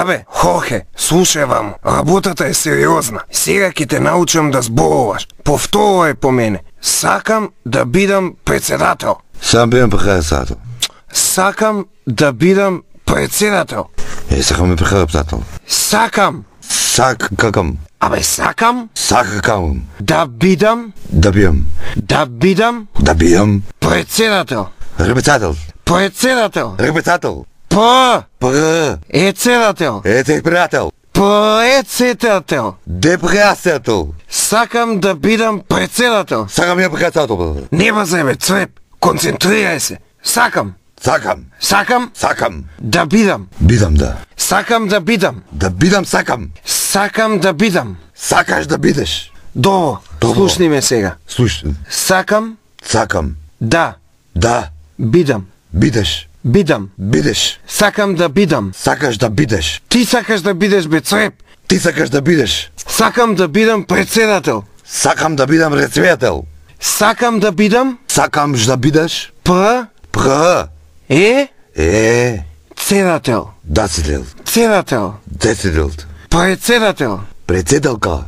Абе, Хорхе, слушај ваму, работата е сериозна. Сега ќе те научам да зборуваш. Повторувај по мене. Сакам да бидам председател. Сам бидам председател. Сакам да бидам председател. Сакам да бидам председател. Сакам. Сакам. Абе, сакам. Сакам. Да бидам. Да бидам. Да бидам. Да бидам. Председател. Председател. Председател. Председател. Председател. Председател. Председател. Председател. Сакам да бидам председател. Сакам да бидам председател. Не базебе, цвеп. Концентрирај се. Сакам. Сакам. Сакам. Сакам. Да бидам. Бидам да. Сакам да бидам. Да бидам сакам. Сакам да бидам. Сакаш да бидеш. Добро. Слушни ме сега. Слушни. Сакам. Сакам. Да. Да. Бидам. Бидеш. Бидам. Бидеш. Сакам да бидам. Сакаш да бидеш. Ти сакаш да бидеш, бе, цвеп. Ти сакаш да бидеш. Сакам да бидам председател. Сакам да бидам председател. Сакам да бидам. Сакамш да бидеш. Цедател. Дацидел. Цедател. Децидел. Председател. Председателка.